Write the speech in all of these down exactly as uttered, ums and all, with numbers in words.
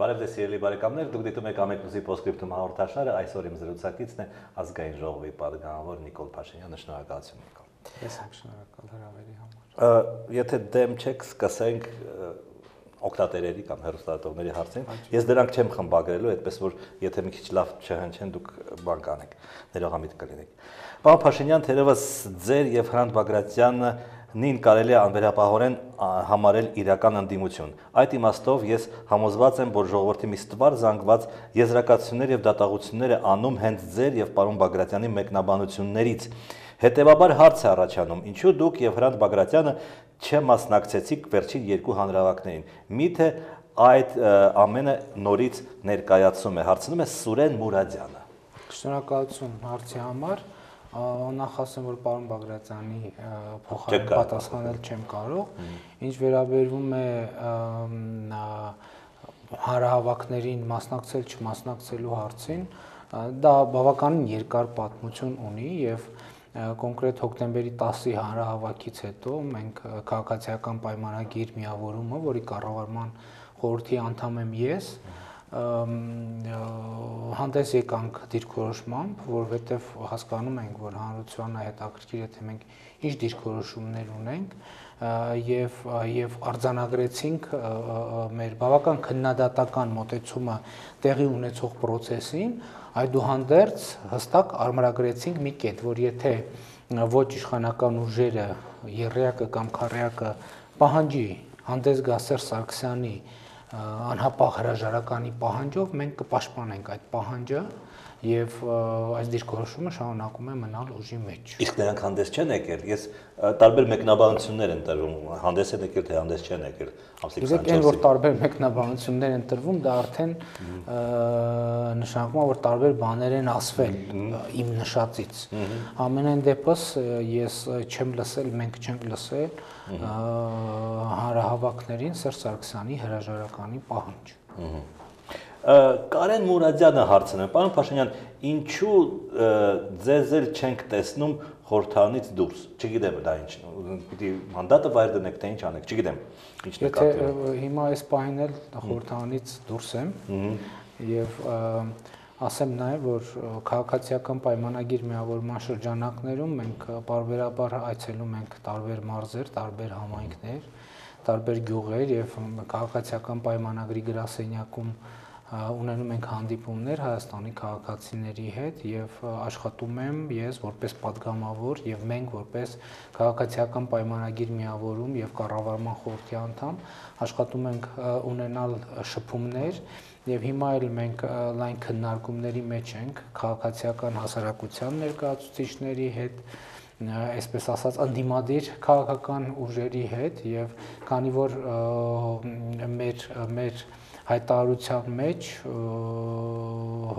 Բարև ձեզ սիրելի բարեկամներ, դուք դիտում եք Ամեկնուզի Պոստսկրիպտում հաղորդաշարը, այսօր իմ զրուցակիցն է ազգային ժողովի պատգամավոր Նիկոլ Փաշինյանը, շնորհակալություն Նիկոլ։ Ես եմ շնորհակալ հրավերի համար։ Եթե դեմ չեք, սկսենք օգտատերերի կամ հեռուստադիտողների հարցին։ Ես դրանք չեմ խմբագրելու, այդպես որ եթե մի քիչ լավ չհնչեն, դուք բան կանեք, ներողամիտ կլինեք։ Պարոն Փաշինյան, թերևս ձեր եւ Հրանտ Բագրատյանը նին կարելի է անվերապահորեն համարել իրական ընդդիմություն։ Այդ իմաստով ես համոզված եմ, որ ժողովրդի մի ստվար զանգված եզրակացություններ եւ դատաղություններ է անում հենց ձեր եւ պարոն Բագրատյանի մեկնաբանություններից։ Հետևաբար հարց է առաջանում, ինչու դուք եւ Հրանտ Բագրատյանը չմասնակցեցիք վերջին երկու հանրահավաքներին։ Միթե այդ ամենը նորից ներկայացում է, հարցնում է Սուրեն Մուրադյանը։ Շնորհակալություն հարցի համար։ Նախ ասեմ, որ պարոն Բագրատյանի փոխարեն պատասխանել չեմ կարող։ Ինչ վերաբերվում է հանրահավաքներին մասնակցել չմասնակցելու հարցին, դա բավականին երկար պատմություն ունի եւ կոնկրետ հոկտեմբերի տասի հանրահավաքից հետո մենք քաղաքացիական պայմանագիր միավորումը, որի կառավարման խորհրդի անդամ եմ ես, հանդես եկանք դիրքորոշմամբ, որովհետև հասկանում ենք, որ հանրությանը հետաքրքիր է, թե մենք ինչ դիրքորոշումներ ունենք եւ եւ արձանագրեցինք մեր բավական քննադատական մոտեցումը տեղի ունեցող process-ին, այդուհանդերձ հստակ արմրագրեցինք մի կետ, որ եթե ոչ իշխանական ուժերը, եռյակը կամ քառյակը պահանջի հանդես գա Սերժ Սարգսյանի անհապաղ հրաժարականի պահանջով, մենք կպաշտպանենք այդ պահանջը եւ այս դիրքորոշումը շարունակում է մնալ ուժի մեջ։ Իսկ նրանք հանդես չեն եկել։ Ես տարբեր մեկնաբանություններ են տրվում, հանդես են եկել, թե հանդես չեն եկել։ Իսկ այն որ տարբեր մեկնաբանություններ են տրվում, դա արդեն նշանակում է, որ տարբեր բաներ են ասվել իմ նշածից։ Ամենայն դեպս ես չեմ լսել, մենք չենք լսել հանրահավաքներին Սերժ Սարգսյանի հրաժարականի պահանջ։ Կարեն Մուրադյանը հարցնում է, պարոն Փաշինյան, ինչու ձեզ էլ չենք տեսնում խորհրդարանից դուրս։ Չգիտեմ դա ինչ, պիտի մանդատը վայր դնեք, թե ինչ անեք, չգիտեմ։ Ինչ նկատի։ Եթե հիմա այս պահին էլ խորհրդարանից դուրս եմ եւ ասեմ նաեւ, որ քաղաքացիական պայմանագիր միավորման շրջանակներում մենք բարբերաբար այցելում ենք տարբեր մարզեր, տարբեր համայնքներ, տարբեր գյուղեր եւ քաղաքացիական պայմանագրի գրասենյակում ունենում ենք հանդիպումներ Հայաստանի քաղաքացիների հետ եւ աշխատում եմ ես որպես падգամավոր եւ մենք որպես քաղաքացիական պայմանագիր միավորում եւ կառավարման խորհրդի անդամ աշխատում ենք ունենալ շփումներ եւ հիմա էլ մենք լայն քննարկումների մեջ ենք քաղաքացիական հասարակության ներկայացուցիչների հետ այսպես ասած ընդդիմադիր քաղաքական ուժերի հետ եւ քանի որ մեր մեր հայտարարության մեջ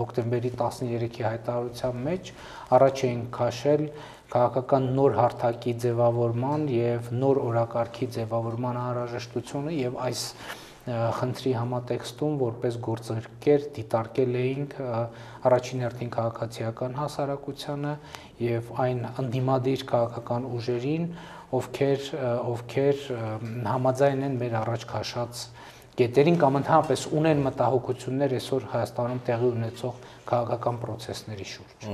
հոկտեմբերի տասներեքի հայտարարության մեջ առաջ էին քաշել քաղաքական նոր հարթակի ձևավորման եւ նոր օրակարգի ձևավորման անհրաժեշտությունը եւ այս խնդրի համատեքստում որպես գործընկեր դիտարկել էինք առաջին հերթին քաղաքացիական հասարակությանը եւ այն ընդդիմադիր քաղաքական ուժերին, ովքեր ովքեր համաձայն են մեր առաջ քաշած կետերին կամ ընդհանրապես ունեն մտահոգություններ այսօր Հայաստանում տեղի ունեցող քաղաքական process-ների շուրջ։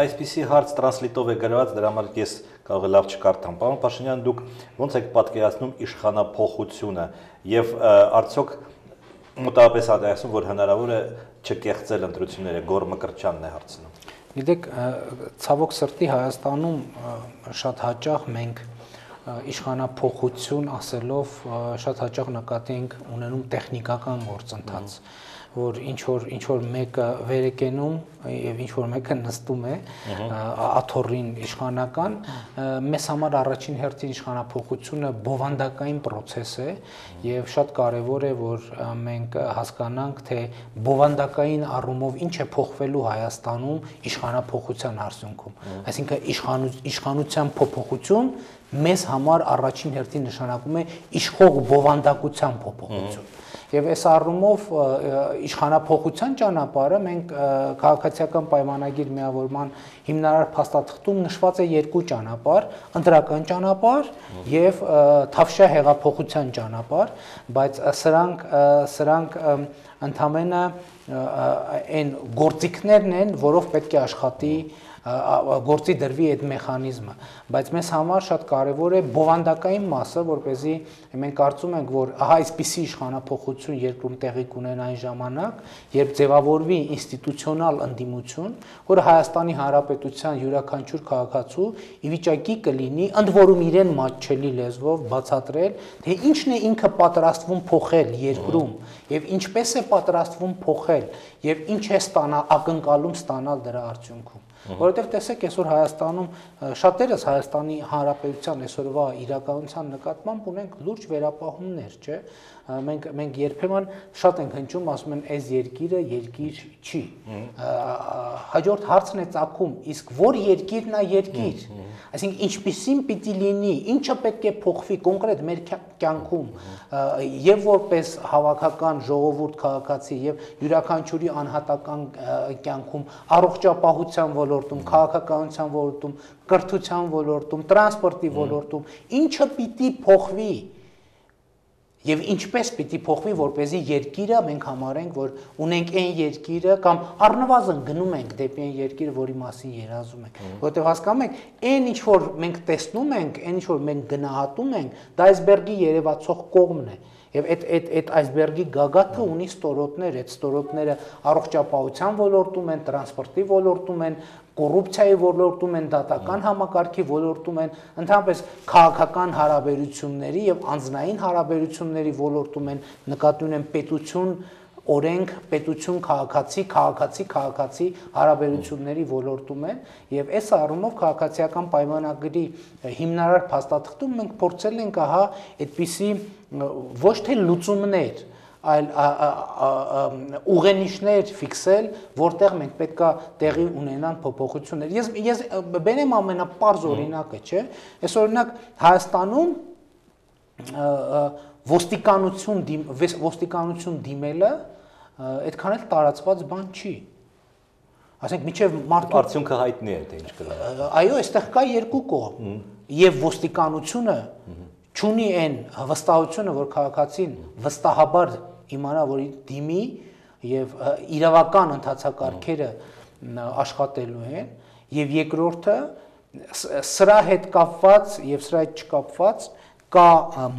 Այսպիսի հարց տրանսլիտով է գրված, դրա համար ես կարող եմ լավ չկարդամ։ Պարոն Փաշինյան, դուք ոնց եք պատկերացնում իշխանափոխությունը եւ արդյոք մոտավորապես ասում, որ հնարավոր է չկեղծել ընտրությունները, Գոռ Մկրտչյանն է հարցնում։ Գիտեք, ցավոք սրտի Հայաստանում շատ հաճախ մենք իշխանափոխություն ասելով շատ հաճախ նկատի ենք ունենում տեխնիկական գործընթաց, որ ինչ որ ինչ որ մեկը վեր է կենում եւ ինչ որ մեկը նստում է աթոռին իշխանական, մեզ համար առաջին հերթին իշխանափոխությունը բովանդակային process է եւ շատ կարեւոր է, որ մենք հասկանանք, թե բովանդակային առումով ինչ է փոխվելու Հայաստանում իշխանափոխության արդյունքում, այսինքն իշխանության փոփոխություն մեզ համար առաջին հերթին նշանակում է իշխող բովանդակության փոփոխություն Եվ այս առումով իշխանափոխության ճանապարհը մենք քաղաքացիական պայմանագիր միավորման հիմնարար փաստաթղթում նշված է երկու ճանապարհ, ընտրական ճանապարհ եւ թավշյա հեղափոխության ճանապարհ, բայց սրանք սրանք ընդամենը այն գործիքներն են, որով պետք է աշխատի գործի դրվի այդ մեխանիզմը, բայց մեզ համար շատ կարևոր է բովանդակային մասը, որպեսզի մենք կարծում ենք, որ ահա այսպիսի իշխանափոխություն երկրում տեղի կունենա այն ժամանակ, երբ ձևավորվի ինստիտուցիոնալ ընդդիմություն, որը Հայաստանի Հանրապետության յուրաքանչյուր քաղաքացու ի վիճակի կլինի ընդ որում իրեն մատչելի լեզվով բացատրել, թե ինչն է ինքը պատրաստվում փոխել երկրում եւ ինչպես է պատրաստվում փոխել եւ ինչ է ստանալ ակնկալում ստանալ դրա արդյունքում։ Որովհետև տեսեք, այսօր Հայաստանում շատերս Հայաստանի Հանրապետության այսօրվա իրականության նկատմամբ ունենք լուրջ վերապահումներ, չէ՞։ Մենք մենք երբեմն շատ ենք հնչում, ասում են, այս երկիրը երկիր չի։ Հաջորդ հարցն է ծագում, իսկ որ երկիրն է երկիր։ Այսինքն ինչպիսին պիտի լինի, ինչը պետք է փոխվի կոնկրետ մեր կյանքում, եւ որպես հավաքական ժողովուրդ քաղաքացի եւ յուրաքանչյուրի անհատական կյանքում, առողջապահության ոլորտում, քաղաքականության ոլորտում, կրթության ոլորտում, տրանսպորտի ոլորտում, ինչը պիտի փոխվի եւ ինչպես պիտի փոխվի, որպեսզի երկիրը մենք համարենք, որ ունենք այն երկիրը կամ առնվազն գնում ենք դեպի այն երկիրը, որի մասին երազում ենք, որովհետեւ հասկանում եք, այն ինչ որ մենք տեսնում ենք, այն ինչ որ մենք գնահատում ենք, դա այսբերգի երևացող կողմն է։ Եվ այդ այդ այդ այսբերգի գագաթը ունի ստորոտներ, այդ ստորոտները առողջապահության ոլորտում են, տրանսպորտի ոլորտում են, կոռուպցիայի ոլորտում են, դատական համակարգի ոլորտում են, ընդհանրապես քաղաքական հարաբերությունների եւ անձնային հարաբերությունների ոլորտում են, նկատի ունեն պետություն, օրենք, պետություն, քաղաքացի, քաղաքացի, քաղաքացի հարաբերությունների ոլորտում են եւ այս առումով քաղաքացիական պայմանագրի հիմնարար փաստաթղթում մենք փորձել ենք ահա այդպիսի ոչ թե լուծումներ, այլ ուղենիշներ ֆիքսել, որտեղ մենք պետքա տեղի ունենան փոփոխություններ։ Ես ես բերեմ ամենապարզ օրինակը, չէ՞։ Այս օրինակ Հայաստանում ոստիկանություն ոստիկանություն դիմելը այդքան էլ տարածված բան չի։ Ասենք միջև մարդու արդյունքը հայտնի է, թե ինչ կլինի։ Այո, այստեղ կա երկու կողմ։ Եվ ոստիկանությունը չունի այն վստահությունը, որ քաղաքացին վստահաբար իմանա, որ դիմի եւ իրավական ընթացակարգերը աշխատելու են, եւ երկրորդը սրա հետ կապված եւ սրա հետ չկապված կա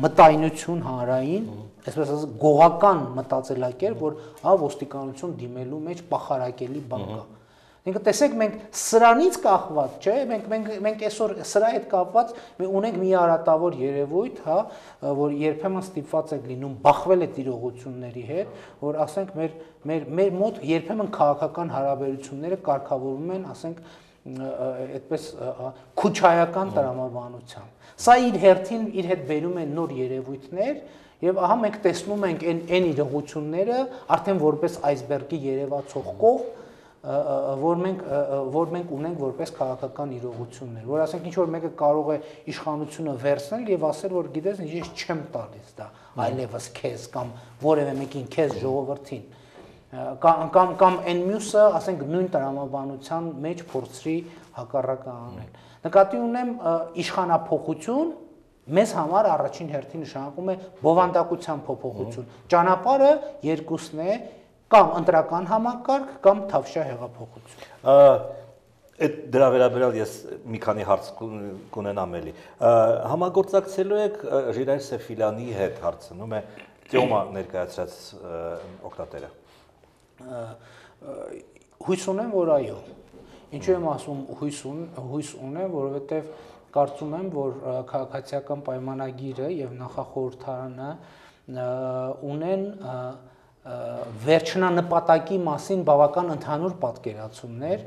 մտայնություն հանրային, այսպես ասած գողական մտածելակերպ, որ հա ոստիկանություն դիմելու մեջ պախարակելի բան կա։ Ինքը տեսեք, մենք սրանից կախված, չէ, մենք մենք մենք այսօր սրա հետ կապված մենք ունենք մի արատավոր երևույթ, հա, որ երբեմն ստիպված ենք լինում բախվել այդ իրողությունների հետ, որ ասենք մեր մեր մեր մոտ երբեմն քաղաքական հարաբերությունները կարգավորվում են, ասենք այդպես քուչայական տրամաբանությամբ։ Սա իր հերթին իր հետ բերում է նոր երևույթներ եւ ահա մենք տեսնում ենք այն այն իրողությունները արդեն որպես այսբերգի երևացող կողմ, որ մենք որ մենք ունենք որպես քաղաքական իրողություններ, որ ասենք ինչ որ մեկը կարող է իշխանությունը վերցնել եւ ասել, որ գիտես, ես չեմ տալիս դա այլևս քեզ կամ որևէ մեկին քեզ ժողովրդին կամ կամ կամ այն մյուսը, ասենք նույն տրամաբանության մեջ փորձի հակառակը անել։ Նկատի ունեմ իշխանափոխություն մեզ համար առաջին հերթին նշանակում է բովանդակության փոփոխություն։ Ճանապարհը երկուսն է, կամ ընտրական համակարգ կամ թավշյա հեղափոխություն։ Այդ դրա վերաբերյալ ես մի քանի հարց կունենամ էլի։ Համագործակցելու եք Ժիրայր Սեֆիլյանի հետ, հարցնում է Տյոմա ներկայացրած օգտատերը։ Հույս ունեմ, որ այո։ Ինչու եմ ասում հույս հույս ունեմ, որովհետև կարծում եմ, որ քաղաքացիական պայմանագիրը եւ նախախորհրդարանը ունեն վերջնանպատակի մասին բավական ընդհանուր պատկերացումներ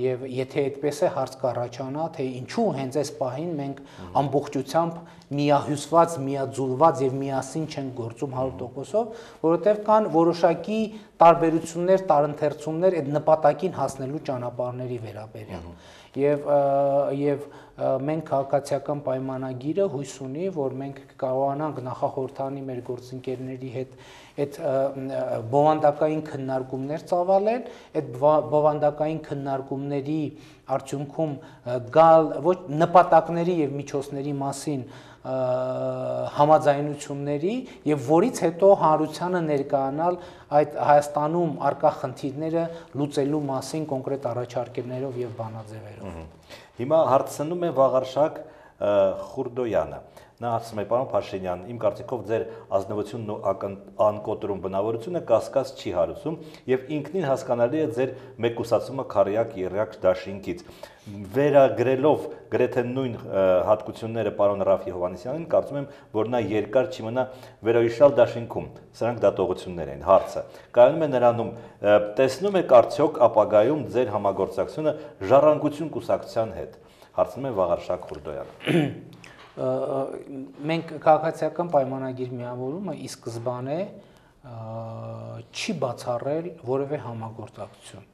եւ եթե այդպես է հարց կառաջանա, թե ինչու հենց այս պահին մենք ամբողջությամբ միահյուսված, միաձուլված եւ միասին չենք գործում հարյուր տոկոսով, որովհետեւ կան որոշակի տարբերություններ, տարընթերցումներ այդ նպատակին հասնելու ճանապարհների վերաբերյալ։ Եվ եւ մենք քաղաքացիական պայմանագիրը հույս ունի, որ մենք կարողանանք նախախորհրդանի մեր գործընկերների հետ այդ բովանդակային քննարկումներ ծավալել, այդ բովանդակային քննարկումների արդյունքում գալ ոչ նպատակների եւ միջոցների մասին համաձայնությունների եւ որից հետո հանրությանը ներկայանալ այդ Հայաստանում արկա խնդիրները լուծելու մասին կոնկրետ առաջարկներով եւ բանաձևերով։ Հիմա հարցնում է Վաղարշակ Խուրդոյանը։ Նա ասում է, պարոն Փաշինյան, իմ կարծիքով ձեր ազնվությունն ու անկոտրում բնավորությունը կասկած չի հարուցում եւ ինքնին հասկանալի է ձեր մեկուսացումը քարյակ երրակ դաշինքից։ Վերագրելով գրեթե նույն հատկությունները պարոն Ռաֆի Հովհաննիսյանին, կարծում եմ, որ նա երկար չմնա վերոհիշալ դաշինքում։ Սրանք դատողություններ են։ Հարցը կայանում է նրանում, տեսնում եք արդյոք ապագայում ձեր համագործակցությունը Ժառանգություն կուսակցության հետ։ Հարցնում է Վաղարշակ Խուրդոյանը։ Մենք քաղաքացիական պայմանագիր միավորումը ի սկզբանե չի բացառել որևէ համագործակցություն։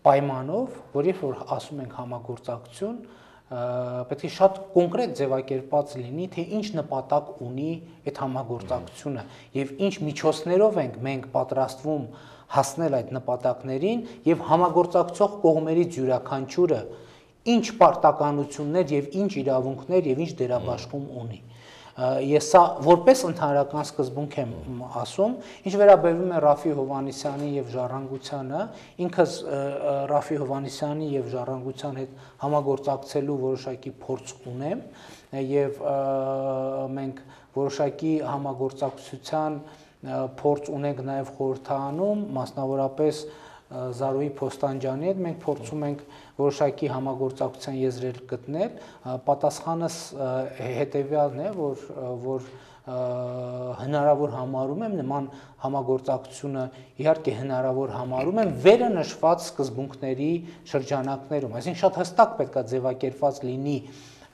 Պայմանով, որ երբ որ ասում ենք համագործակցություն, պետք է շատ կոնկրետ ձևակերպած լինի, թե ինչ նպատակ ունի այդ համագործակցությունը եւ ինչ միջոցներով ենք մենք պատրաստվում հասնել այդ նպատակներին եւ համագործակցող կողմերից յուրաքանչյուրը ինչ պարտականություններ եւ ինչ իրավունքներ եւ ինչ դերաբաշխում ունի։ Ես սա որպես ընդհանրական սկզբունք եմ ասում, ինչ վերաբերում է Ռաֆի Հովհաննիսյանի եւ Ժառանգությանը, ինքս Ռաֆի Հովհաննիսյանի եւ Ժառանգության հետ համագործակցելու որոշակի փորձ ունեմ եւ մենք որոշակի համագործակցության փորձ ունենք նաեւ խորհրդանում, մասնավորապես Զարուհի Փոստանջյանի հետ մենք փորձում ենք որոշակի համագործակցության եզրեր գտնել, պատասխանս հետեւյալն է, որ որ հնարավոր համարում եմ նման համագործակցությունը իհարկե հնարավոր համարում եմ վերը նշված սկզբունքների շրջանակներում, այսինքն շատ հստակ պետք է ձևակերպված լինի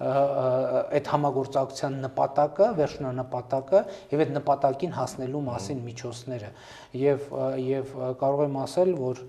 այդ համագործակցության նպատակը, վերջնանպատակը եւ այդ նպատակին հասնելու մասին միջոցները եւ եւ կարող եմ ասել, որ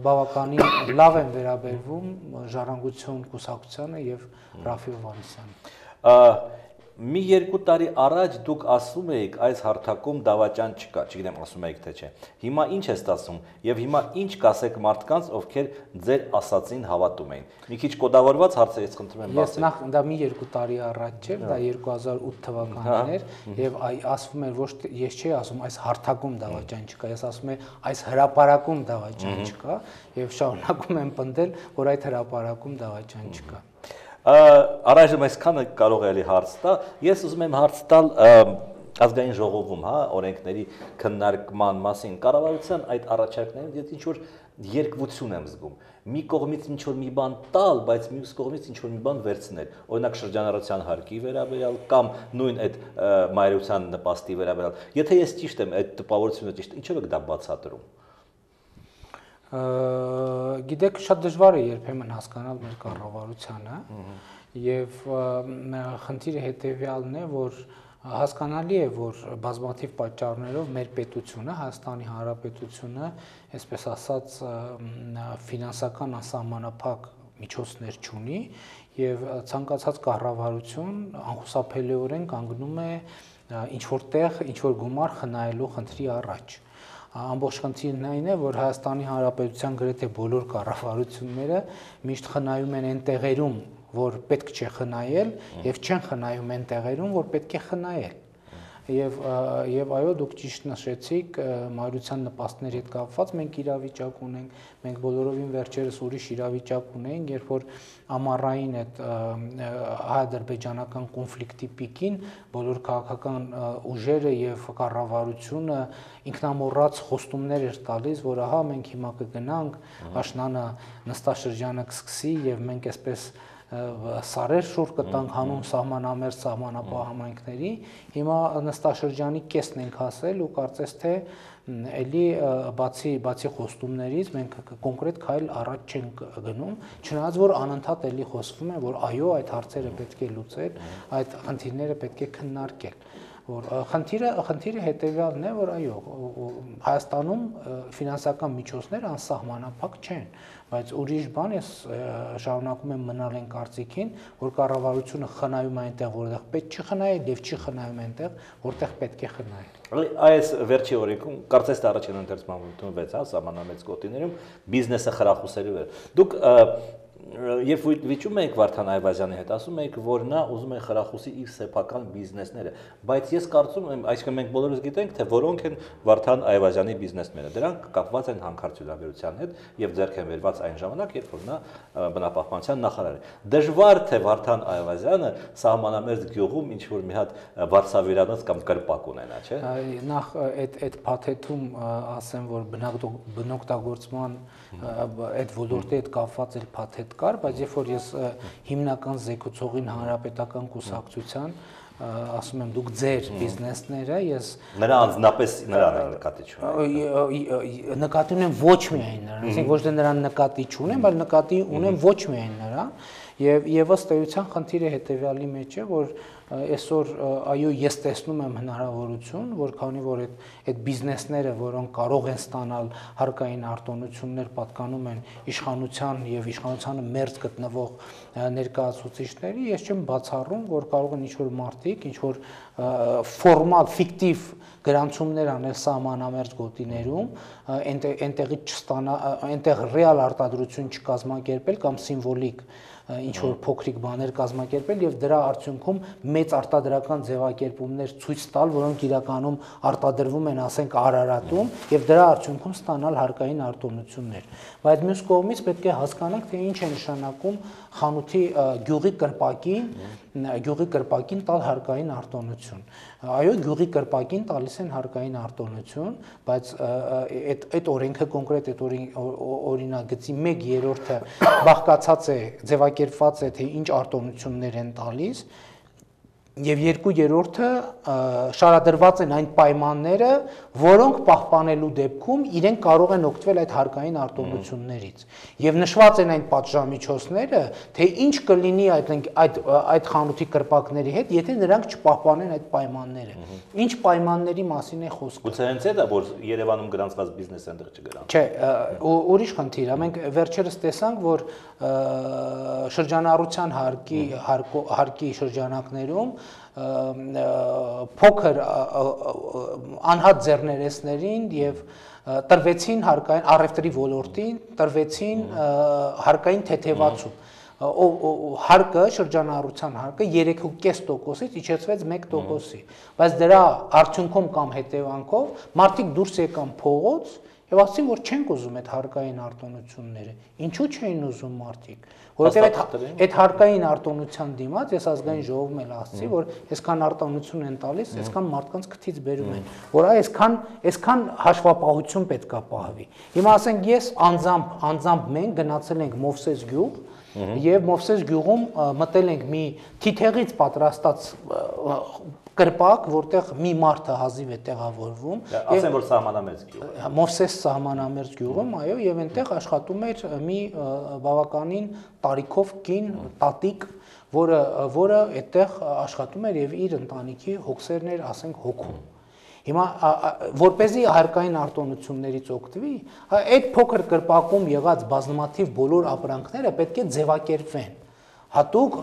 բավականին լավ են վերաբերվում Ժառանգություն կուսակցությանը եւ Ռաֆի Հովհաննիսյանին։ Մի երկու տարի առաջ դուք ասում էիք այս հարթակում դավաճան չկա, չգիտեմ ասում էիք թե չէ։ Հիմա ինչ է ստացվում եւ հիմա ինչ կասեք մարդկանց, ովքեր ձեր ասածին հավատում էին։ Մի քիչ կոդավորված հարց է, ես խնդրում եմ ասել։ Ես նախ դա մի երկու տարի առաջ չէ, դա երկու հազար ութ թվականին էր եւ ասվում էր ոչ ես չի ասում այս հարթակում դավաճան չկա, ես ասում եմ այս հրապարակում դավաճան չկա եւ շարունակում եմ պնդել, որ այդ հրապարակում դավաճան չկա։ Առայժմ այսքանը կարող է հարց տա, ես ուզում եմ հարց տալ ազգային ժողովում, հա, օրենքների քննարկման մասին, կառավարության այդ առաջարկներին ես ինչ որ երկվություն եմ զգում։ Մի կողմից ինչ որ մի բան տալ, բայց մյուս կողմից ինչ որ մի բան վերցնել։ Օրինակ շրջանառության հարկի վերաբերյալ կամ նույն այդ մայրության նպաստի վերաբերյալ։ Եթե ես ճիշտ եմ, այդ տպավորությունը ճիշտ, ինչով եք դա բացատրում։ Գիտեք, շատ դժվար է երբեմն հասկանալ մեր կառավարությանը եւ խնդիրը հետեւյալն է, որ հասկանալի է, որ բազմաթիվ պատճառներով մեր պետությունը, Հայաստանի Հանրապետությունը, այսպես ասած, ֆինանսական անսահմանափակ միջոցներ չունի եւ ցանկացած կառավարություն անխուսափելիորեն կանգնում է ինչ որտեղ ինչ որ գումար խնայելու խնդրի առաջ։ Ամբողջ խնդիրն այն է, որ Հայաստանի Հանրապետության գրեթե բոլոր կառավարությունները միշտ խնայում են այն տեղերում, որ պետք չէ խնայել, եւ չեն խնայում այն տեղերում, որ պետք է խնայել։ Եվ եւ այո, դուք ճիշտ նշեցիք, մայրության նպաստների հետ կապված մենք իրավիճակ ունենք, մենք բոլորովին վերջերս ուրիշ իրավիճակ ունենք, երբ որ ամառային այդ հայ-ադրբեջանական կոնֆլիկտի պիկին բոլոր քաղաքական ուժերը եւ կառավարությունը ինքնամոռաց խոստումներ էր տալիս, որ ահա մենք հիմա կգնանք, աշնանը նստաշրջանը կսկսի եւ մենք այսպես սարեր շուռ կտանք հանուն սահմանամերձ սահմանապահ համայնքների, հիմա նստաշրջանի կեսն ենք հասել ու կարծես թե էլի բացի բացի խոստումներից մենք կոնկրետ քայլ առաջ չենք գնում, չնայած որ անընդհատ էլի խոսվում է, որ այո, այդ հարցերը պետք է լուծել, այդ խնդիրները պետք է քննարկել, որ խնդիրը խնդիրը հետեւյալն է, որ այո, Հայաստանում ֆինանսական միջոցները անսահմանափակ չեն, բայց ուրիշ բան է շարունակում եմ մնալ այն կարծիքին, որ կառավարությունը խնայում է այնտեղ, որտեղ պետք չի խնայել եւ չի խնայում այնտեղ, որտեղ պետք է խնայել։ Այս վերջի օրիկում կարծես թե առաջին ընթերցման ընդունվեց, հա, սահմանամերձ գոտիներում բիզնեսը խրախուսելու էր։ Դուք Երբ վիճում եք Վարդան Այվազյանի հետ, ասում եք, որ նա ուզում է խրախուսի իր սեփական բիզնեսները, բայց ես կարծում եմ, այսինքն մենք բոլորս գիտենք, թե որոնք են Վարդան Այվազյանի բիզնեսները, դրանք կապված են հանքարդյունաբերության հետ եւ ձեռք են բերված այն ժամանակ, երբ որ նա բնապահպանության նախարար է։ Դժվար թե Վարդան Այվազյանը սահմանամերձ գյուղում ինչ որ մի հատ վարսավիրանոց կամ կրպակ ունենա, չէ՞։ Նախ այդ այդ փաթեթում ասեմ, որ բնօգտագործման այդ ոլորտի հետ կապված էլ փաթեթ կար, բայց երբ որ ես հիմնական զեկուցողին հանրապետական կուսակցության ասում եմ դուք ձեր բիզնեսները, ես նրա անձնապես նրան են նկատի չունեմ։ Նկատի ունեմ ոչ միայն նրան, այսինքն ոչ թե նրան նկատի չունեմ, այլ նկատի ունեմ ոչ միայն նրան, եւ եւ ըստ էության խնդիրը հետեւյալի մեջ է, որ այսօր այո ես տեսնում եմ հնարավորություն, որ քանի որ այդ այդ բիզնեսները, որոնք կարող են ստանալ հարկային արտոնություններ, պատկանում են իշխանության եւ իշխանությանը մերձ գտնվող ներկայացուցիչների, ես չեմ բացառում, որ կարող են ինչ-որ մարդիկ, ինչ-որ ֆորմալ, ֆիկտիվ գրանցումներ անել սահմանամերձ գոտիներում, այնտեղից չստանա, այնտեղ ռեալ արտադրություն չկազմակերպել կամ սիմվոլիկ ինչ որ փոքրիկ բաներ կազմակերպել եւ դրա արդյունքում մեծ արտադրական ձևակերպումներ ցույց տալ, որոնք իրականում արտադրվում են, ասենք, Արարատում եւ դրա արդյունքում ստանալ հարկային արտոնություններ։ Բայց մյուս կողմից պետք է հասկանանք, թե ինչ է նշանակում խանութի գյուղի կրպակին, գյուղի կրպակին տալ հարկային արտոնություն։ Այո, գյուղի կրպակին տալիս են հարկային արտոնություն, բայց այդ այդ օրենքը կոնկրետ այդ օրինագծի մեկ երրորդը բաղկացած է, ձևակերպված է, թե ինչ արտոնություններ են տալիս, եւ երկու երրորդը շարադրված են այն պայմանները, որոնք պահպանելու դեպքում իրենք կարող են օգտվել այդ հարկային արտոնություններից եւ նշված են այն պատժամիջոցները, թե ինչ կլինի այդ այդ այդ խանութի կրպակների հետ, եթե նրանք չպահպանեն այդ պայմանները։ Ինչ պայմանների մասին է խոսքը։ Գուցե հենց այդ է, որ Երևանում գրանցված բիզնեսը այնտեղ չգրանցվի։ Չէ, ուրիշ խնդիր է։ Մենք վերջերս տեսանք, որ շրջանառության հարկի հարկի շրջանակներում փոքր անհատ ձեռներեցներին եւ տրվեցին հարկային առևտրի ոլորտին, տրվեցին հարկային թեթևացում։ Հարկը շրջանառության հարկը երեք կես տոկոսից իջեցվեց մեկ տոկոսի, բայց դրա արդյունքում կամ հետևանքով մարդիկ դուրս եկան փողոց եւ ասացին, որ չենք ուզում այդ հարկային արտոնությունները։ Ինչու չէին ուզում մարդիկ, որովհետեւ այդ հարկային արտոնության դիմաց ես ազգային ժողովում էլ ասացի, որ այսքան արտոնություն են տալիս, այսքան մարդկանց քթից բերում են, որ այսքան այսքան հաշվապահություն պետք է պահվի։ Հիմա ասենք ես անձամբ անձամբ մենք գնացել ենք Մովսես գյուղ եւ Մովսես գյուղում մտել ենք մի թիթեղից պատրաստած կրպակ, որտեղ մի մարդ հազիվ է տեղավորվում։ Ասեմ, որ սահմանամերձ գյուղ։ Մովսես սահմանամերձ գյուղում, այո, եւ այնտեղ աշխատում էր մի բավականին տարիքով կին տատիկ, որը որը այդտեղ աշխատում էր եւ իր ընտանիքի հոգսերն էր, ասենք, հոգում։ Հիմա որպեսզի հարկային արտոնություններից օգտվի, այդ փոքր կրպակում եղած բազմաթիվ բոլոր ապրանքները պետք է ձևակերպվեն։ Հատուկ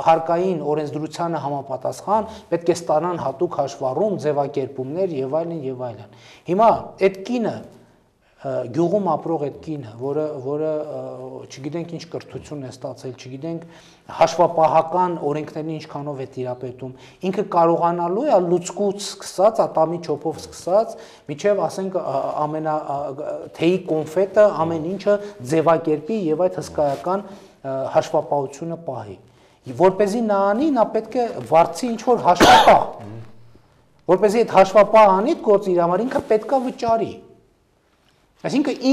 հարկային օրենսդրությանը համապատասխան պետք է ստանան հատուկ հաշվառում, ձևակերպումներ եւ այլն եւ այլն։ Հիմա այդ կինը գյուղում ապրող այդ կինը, որը որը չգիտենք ինչ կրթություն է ստացել, չգիտենք հաշվապահական օրենքներին ինչքանով է տիրապետում, ինքը կարողանալու է լուցկուց սկսած, ատամի չոփով սկսած, միջև ասենք ամենա թեյի կոնֆետը, ամեն ինչը ձևակերպի եւ այդ հսկայական հաշվապահությունը պահի։ Որպեսզի նա անի, նա պետք է վարձի ինչ որ հաշվապահ։ Որպեսզի այդ հաշվապահ անի, գործ իր համար ինքը պետքա վճարի։ Այսինքն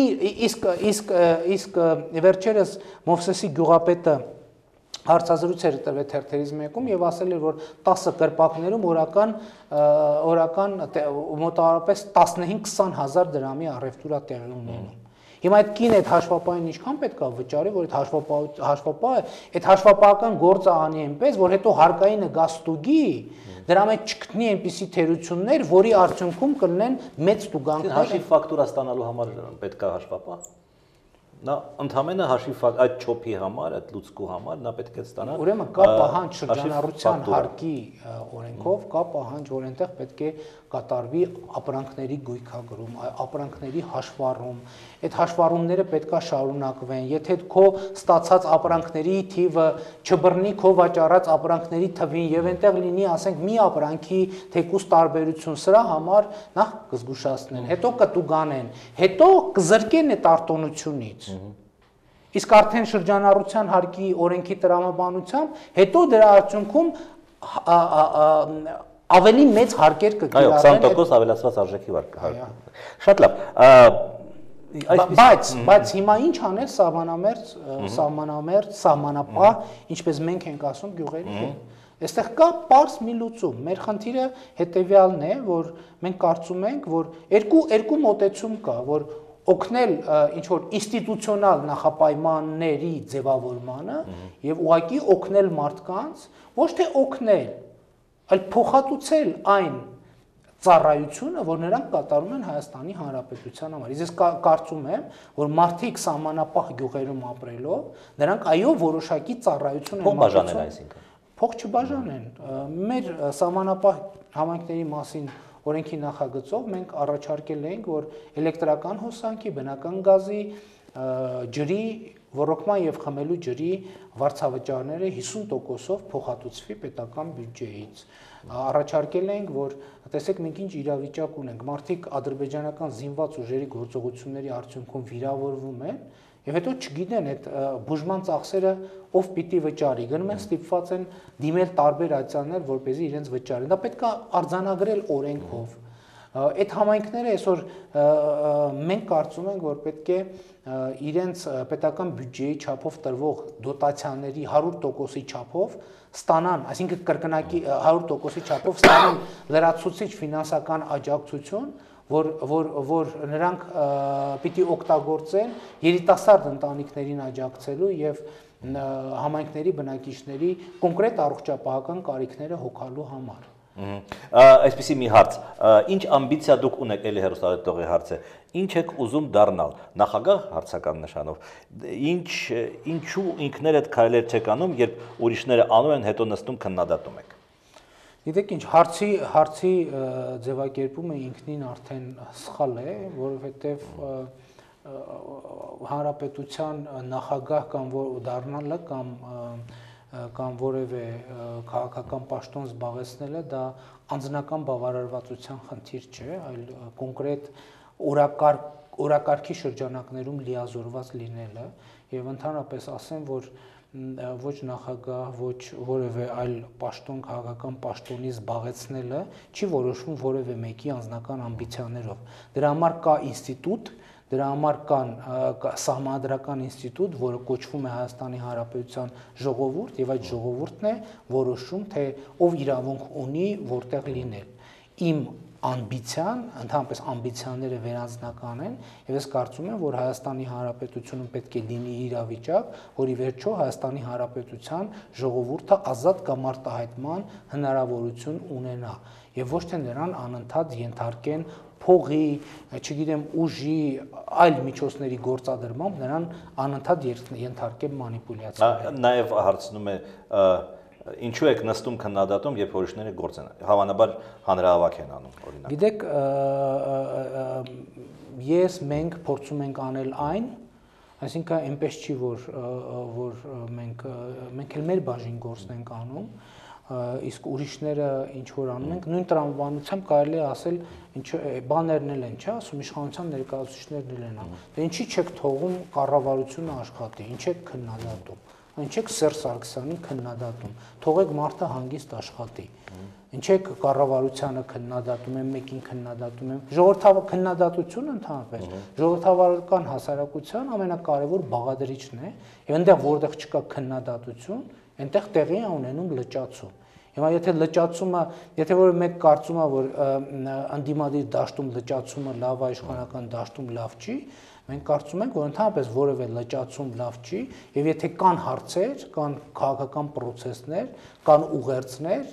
իսկ իսկ իսկ վերջերս Մովսեսի գյուղապետը հարցազրույց էր տվել թերթերից մեկում եւ ասել էր, որ տասը կրպակներում օրական օրական մոտավորապես տասնհինգ քսան հազար դրամի առևտուր է տեղի ունենում։ Հիմա այդ կին այդ հաշվապահին ինչքան պետք է վճարի, որ այդ հաշվապահը այդ հաշվապահական գործը անի այնպես, որ հետո հարկայինը գա ստուգի, դրա մեջ չգտնի այնպիսի թերություններ, որի արդյունքում կլինեն մեծ տուգանքներ։ Հաշիվ ֆակտուրա ստանալու համար պետք է հաշվապահ։ Նա ընդհանրապես հաշիվ այդ չոփի համար, այդ լուծկու համար նա պետք է ստանա։ Ուրեմն կա պահանջ շրջանառության հարկի օրենքով, կա պահանջ, որ այնտեղ պետք է կատարվի ապրանքների գույքագրում, ապրանքների հաշվառում։ Այդ հաշվառումները պետք է շարունակվեն։ Եթե քո ստացած ապրանքների թիվը չբռնի քո վաճառած ապրանքների թվին եւ այնտեղ լինի, ասենք, մի ապրանքի թեկուս տարբերություն, սրա համար նախ կզգուշացնեն, հետո կտուգանեն, հետո կզրկեն այդ արտոնությունից։ Իսկ արդեն շրջանառության հարկի օրենքի տրամաբանությամբ հետո դրա արդյունքում ավելի մեծ հարկեր կկիրառվեն։ Այո, քսան տոկոս ավելացված արժեքի վարկ։ Շատ լավ։ Բայց բայց հիմա ինչ անել սահմանամերձ, սահմանամերձ, սահմանապահ, ինչպես մենք ենք ասում գյուղերի հետ։ Այստեղ կա պարզ մի լուծում։ Մեր խնդիրը հետեւյալն է, որ մենք կարծում ենք, որ երկու երկու մոտեցում կա, որ օգնել ինչ որ ինստիտուցիոնալ նախապայմանների ձևավորմանը եւ ուղղակի օգնել մարդկանց, ոչ թե օգնել, այլ փոխհատուցել այն ծառայությունը, որ նրանք կատարում են Հայաստանի Հանրապետության համար։ Ես կարծում եմ, որ մարդիկ սահմանապահ գյուղերում ապրելով, նրանք այո որոշակի ծառայություն են մատուցում։ Այսինքն փող չբաժանեն։ Մեր սահմանապահ համայնքների մասին օրենքի նախագծով մենք առաջարկել ենք, որ էլեկտրական հոսանքի, բնական գազի, ջրի, ոռոգման եւ խմելու ջրի վարձավճարները հիսուն տոկոսով փոխհատուցվի պետական բյուջեից։ Առաջարկել ենք, որ տեսեք մենք ինչ իրավիճակ ունենք, մարդիկ ադրբեջանական զինված ուժերի գործողությունների արդյունքում վիրավորվում են եւ հետո չգիտեն այդ բուժման ծախսերը ով պիտի վճարի, գնում են ստիպված են դիմել տարբեր ացիաներ, որպեսզի իրենց վճարեն։ Դա պետք է արձանագրել օրենքով։ Այդ համայնքները այսօր մենք կարծում ենք, որ պետք է իրենց պետական բյուջեի չափով տրվող դոտացիաների հարյուր տոկոսի չափով ստանան, այսինքն կրկնակի հարյուր տոկոսի չափով ստանան լրացուցիչ ֆինանսական աջակցություն, որ որ որ նրանք պիտի օգտագործեն երիտասարդ ընտանիքներին աջակցելու եւ համայնքների բնակիչների կոնկրետ առողջապահական կարիքները հոգալու համար։ Այսպեսի մի հարց, ինչ ամբիցիա դուք ունեք, էլի հեռուստադիտողի հարց է, ինչ եք ուզում դառնալ, նախագահ հարցական նշանով, ինչ ինչու ինքներդ քայլեր չեք անում, երբ ուրիշները անում են, հետո նստում քննադատում եք։ Գիտեք ինչ, հարցի հարցի ձևակերպումը ինքնին արդեն սխալ է, որովհետև հանրապետության նախագահ կամ դառնալը կամ կամ որևէ քաղաքական պաշտոն զբաղեցնելը դա անձնական բավարարվածության խնդիր չէ, այլ կոնկրետ օրակարգ օրակարգի շրջանակներում լիազորված լինելը եւ ընդհանրապես ասեմ, որ ոչ նախագահ, ոչ որևէ այլ պաշտոն քաղաքական պաշտոնի զբաղեցնելը չի որոշվում որևէ մեկի անձնական ամբիցիաներով։ Դրա համար կա ինստիտուտ, դրա համար կան սահմանադրական ինստիտուտ, որը կոչվում է Հայաստանի Հանրապետության ժողովուրդ, եւ այդ ժողովուրդն է որոշում, թե ով իրավունք ունի որտեղ լինել։ Իմ ամբիցիան, ընդհանրապես ամբիցիաները վերանձնական են, եւ ես կարծում եմ, որ Հայաստանի Հանրապետությունում պետք է լինի իրավիճակ, որի վերջո Հայաստանի Հանրապետության ժողովուրդը ազատ կամ արտահայտման հնարավորություն ունենա, եւ ոչ թե նրան անընդհատ ենթարկեն փողի, չգիտեմ, ուժի, այլ միջոցների գործադրմամբ նրան անընդհատ ենթարկեն մանիպուլյացիաների։ Նաեւ հարցնում է ինչու եք նստում քննադատում, երբ ուրիշները գործ են, հավանաբար հանրահավաք են անում, օրինակ։ Գիտեք, ես մենք փորձում ենք անել այն, այսինքն այնպես չի, որ որ մենք մենք էլ մեր բաժին գործն ենք անում, իսկ ուրիշները ինչ որ անում ենք, նույն տրամաբանությամբ կարելի է ասել, ինչ բաներն էլ են, չէ՞, ասում իշխանության ներկայացուցիչներն էլ են անում։ Դե ինչի՞ չեք թողում կառավարությունը աշխատի, ինչ եք քննադատում։ Ինչ եք Սերժ Սարգսյանին քննադատում, թողեք մարդը հանգիստ աշխատի։ Ինչ եք կառավարությանը քննադատում եմ, մեկին քննադատում եմ։ Ժողովրդավար քննադատությունը ընդհանրապես ժողովրդավարական հասարակության ամենակարևոր բաղադրիչն է, եւ այնտեղ որտեղ չկա քննադատություն, այնտեղ տեղի է ունենում լճացում։ Հիմա եթե լճացումը, եթե որ մեկ կարծում է, որ ընդդիմադիր դաշտում լճացումը լավ է, իշխանական դաշտում լավ չի, Մենք կարծում ենք, որ ընդհանրապես որևէ լճացում լավ չի, եւ եթե կան հարցեր, կան քաղաքական process-ներ, կան ուղերձներ,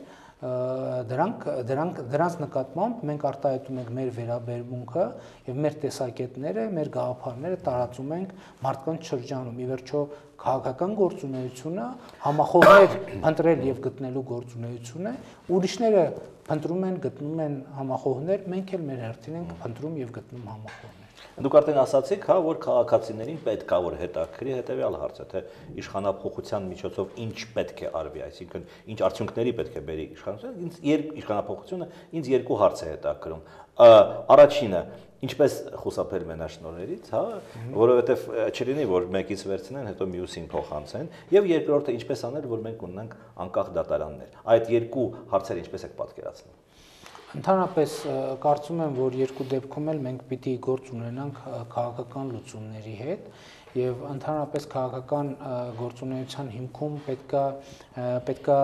դրանք դրանք դրանց նկատմամբ մենք արտահայտում ենք մեր վերաբերմունքը եւ մեր տեսակետները, մեր գաղափարները տարածում ենք մարդկանց շրջանում։ Ի վերջո քաղաքական գործունեությունը համախոհներ փնտրել եւ գտնելու գործունեություն է, ուրիշները փնտրում են, գտնում են համախոհներ, մենք էլ մեր հերթին ենք փնտրում եւ գտնում համախոհներ։ Դուք արդեն ասացիք, հա, որ քաղաքացիներին պետք է որ հետաքրի հետեւյալ հարցը, թե իշխանապողության միջոցով ինչ պետք է արվի, այսինքն ինչ արդյունքների պետք է բերի իշխանությունը, ինձ իշխանապողությունը ինձ երկու հարց է հետաքրում։ Առաջինը, ինչպես խուսափել մենաշնորհներից, հա, որովհետև չլինի, որ մեկից վերցնեն, հետո մյուսին փոխանցեն, եւ երկրորդը ինչպես անել, որ մենք ունենանք անկախ դատարաններ։ Այդ երկու հարցերը ինչպես եք պատկերացնում։ Ընդհանրապես կարծում եմ, որ երկու դեպքում էլ մենք պիտի գործ ունենանք քաղաքական լուծումների հետ եւ ընդհանրապես քաղաքական գործունեության հիմքում պետքա պետքա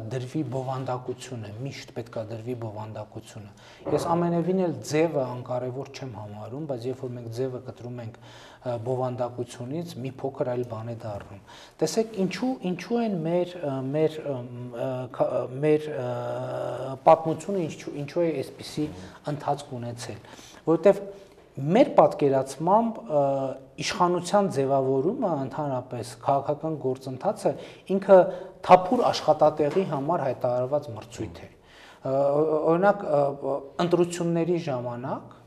դրվի բովանդակությունը, միշտ պետքա դրվի բովանդակությունը։ Ես ամենևին էլ ձևը անկարևոր չեմ համարում, բայց երբ որ մենք ձևը կտրում ենք բովանդակությունից, մի փոքր այլ բան է դառնում։ Տեսեք, ինչու ինչու են մեր մեր մեր պատմությունը ինչու ինչու է այսպիսի ընթացք ունեցել, որովհետեւ մեր պատկերացմամբ իշխանության ձևավորումը ընդհանրապես քաղաքական գործընթացը ինքը թափուր աշխատատեղի համար հայտարարված մրցույթ է։ Օրինակ ընտրությունների ժամանակ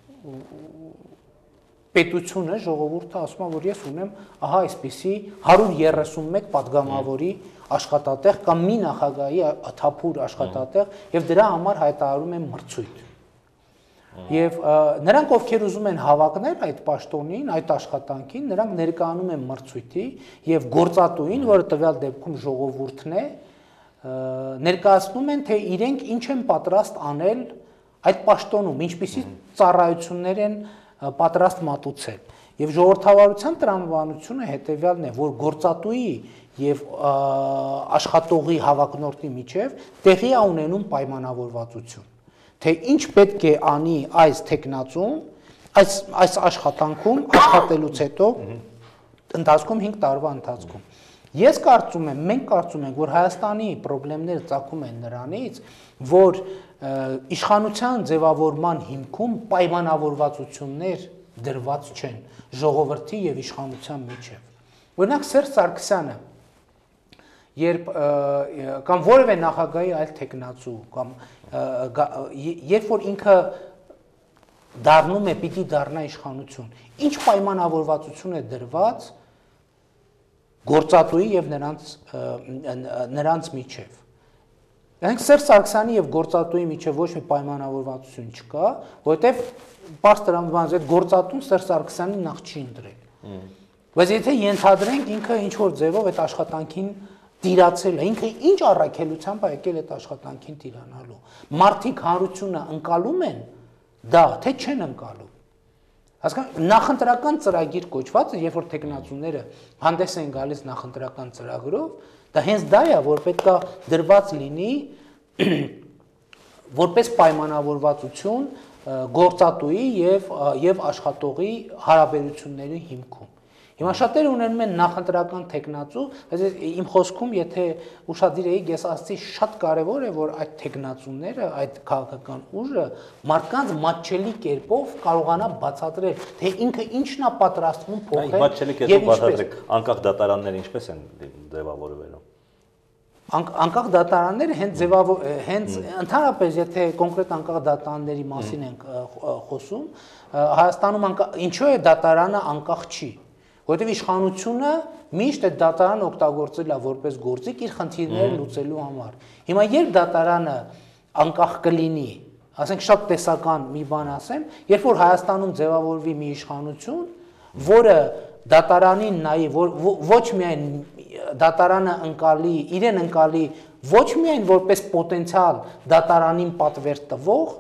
պետությունը, ժողովուրդը ասում է, որ ես ունեմ ահա այսպիսի հարյուր երեսունմեկ պատգամավորի աշխատատեղ կամ մի նախագահի թափուր աշխատատեղ եւ դրա համար հայտարարում են մրցույթ։ Եվ նրանք, ովքեր ուզում են հավակնել այդ պաշտոնին, այդ աշխատանքին, նրանք ներկայանում են մրցույթի եւ գործատուին, որը տվյալ դեպքում ժողովուրդն է, ներկայացնում են, թե իրենք ինչ են պատրաստ անել այդ պաշտոնում, ինչպիսի ծառայություններ են պատրաստ մատուցել։ Եվ ժողովրդավարության տրամաբանությունը հետեւյալն է, որ գործատուի եւ աշխատողի հավակնորդի միջև տեղի է ունենում պայմանավորվածություն, թե ինչ պետք է անի այս տեխնացում, այս այս աշխատանքում աշխատելուց հետո ընթացքում հինգ տարվա ընթացքում։ Ես կարծում եմ, մենք կարծում ենք, որ Հայաստանի խնդիրները ծագում են նրանից, որ իշխանության ձևավորման հիմքում պայմանավորվածություններ դրված չեն ժողովրդի եւ իշխանության միջև։ Օրինակ Սերժ Սարգսյանը, երբ կամ որևէ նախագահի այլ տեխնացու կամ երբ որ ինքը դառնում է պիտի դառնա իշխանություն, ինչ պայմանավորվածություն է դրված գործատուի եւ նրանց նրանց միջև։ Այնք Սերժ Սարգսյանի եւ գործատուի միջև ոչ մի պայմանավորվածություն չկա, որովհետեւ բարձ տրամաբանից այդ գործատուն Սերժ Սարգսյանին նախ չի ընտրել։ Բայց եթե ենթադրենք ինքը ինչ որ ձևով այդ աշխատանքին տիրացել է, ինքը ինչ առաքելությամբ է եկել այդ աշխատանքին տիրանալու։ Մարդիկ հանրությունը ընկալում են դա, թե չեն ընկալում։ Հասկանա, նախընտրական ծրագիր կոչված է, երբ որ տեխնացուները հանդես են գալիս նախընտրական ծրագրով, դա հենց դա է, որ պետք է դրված լինի որպես պայմանավորվածություն գործատուի եւ եւ աշխատողի հարաբերությունների հիմքում։ Հիմա շատերը ունենում են նախընտրական տեխնացու, բայց իմ խոսքում, եթե ուշադիր եք, ես ասացի շատ կարևոր է, որ այդ տեխնացուները, այդ քաղաքական ուժը մարդկանց մատչելի կերպով կարողանա բացատրել, թե ինքը ինչն է պատրաստվում փոխել։ Մատչելի կերպով բացատրեք, անկախ դատարանները ինչպես են ձևավորվելու։ Անկախ դատարանները հենց ձևավոր հենց ընդհանրապես եթե կոնկրետ անկախ դատարանների մասին ենք խոսում, Հայաստանում ինչու է դատարանը անկախ չի, որովհետև իշխանությունը միշտ այդ դատարանը օգտագործել է որպես գործիք իր խնդիրները լուծելու համար։ Հիմա երբ դատարանը անկախ կլինի, ասենք շատ տեսական մի բան ասեմ, երբ որ Հայաստանում ձևավորվի մի իշխանություն, որը դատարանին նայի, ոչ միայն դատարանը ընկալի, իրեն ընկալի ոչ միայն որպես պոտենցիալ դատարանին պատվեր տվող,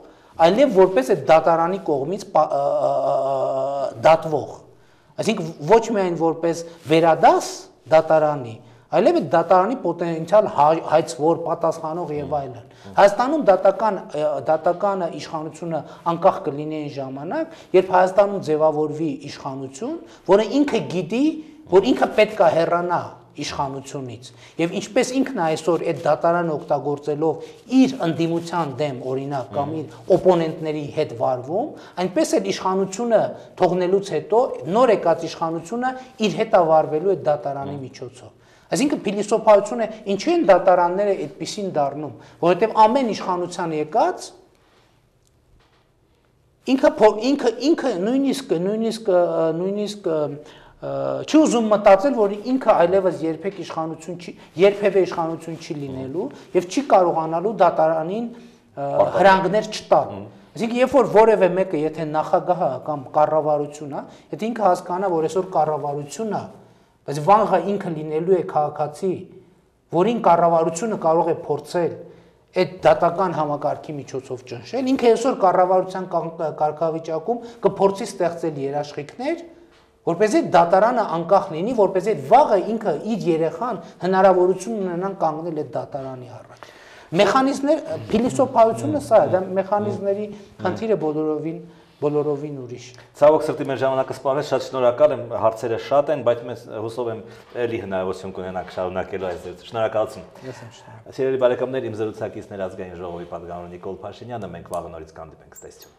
այլև որպես այդ դատարանի կողմից դատվող։ Այսինքն ոչ միայն որպես վերադաս դատարանի, այլև այդ դատարանի պոտենցիալ հայցվոր, պատասխանող եւ այլն։ Հայաստանում դատական դատական իշխանությունը անկախ կլինի այն ժամանակ, երբ Հայաստանում ձևավորվի իշխանություն, որը ինքը գիտի, որ ինքը պետք է հեռանա իշխանությունից եւ ինչպես ինքն այսօր այդ դատարանը օգտագործելով իր ընդդիմության դեմ օրինակ կամ իր օպոնենտների հետ վարվում, այնպես էլ իշխանությունը թողնելուց հետո նոր եկած իշխանությունը իր հետ է վարվելու այդ դատարանի միջոցով։ Այսինքն փիլիսոփայությունը ինչու են դատարանները այդպեսին դառնում, որովհետեւ ամեն իշխանության եկած ինքը ինքը ինքը նույնիսկ նույնիսկ նույնիսկ չի ուզում մտածել, որ ինքը այլևս երբեք իշխանություն չի, երբևէ իշխանություն չի լինելու եւ չի կարողանալու դատարանին հրանգներ չտալ։ Այսինքն երբ որ որևէ մեկը եթե նախագահը կամ կառավարությունն է, եթե ինքը հասկանա, որ այսօր կառավարությունն է, բայց վաղը ինքը լինելու է քաղաքացի, որին կառավարությունը կարող է փորձել այդ դատական համակարգի միջոցով ճնշել, ինքը այսօր կառավարության կարգավիճակում կփորձի ստեղծել երաշխիքներ, որպեսզի դատարանը անկախ լինի, որպեսզի վաղը ինքը իր երեխան հնարավորություն ունենան կանգնել այդ դատարանի առաջ։ Մեխանիզմներ, փիլիսոփայությունը սա է, դա մեխանիզմների խնդիրը բոլորովին բոլորովին ուրիշ։ Ցավոք սրտի մեր ժամանակը սպառեց, շատ շնորհակալ եմ, հարցերը շատ են, բայց մենք հուսով եմ էլի հնարավորություն կունենանք շարունակելու այս զրույցը։ Շնորհակալություն։ Ես եմ շնորհակալ։ Սիրելի բարեկամներ, իմ զրուցակիցներ ազգային ժողովի պատգամավոր Նիկոլ Փաշինյանը, մենք վաղը նորից կհանդիպենք, ցտեսություն։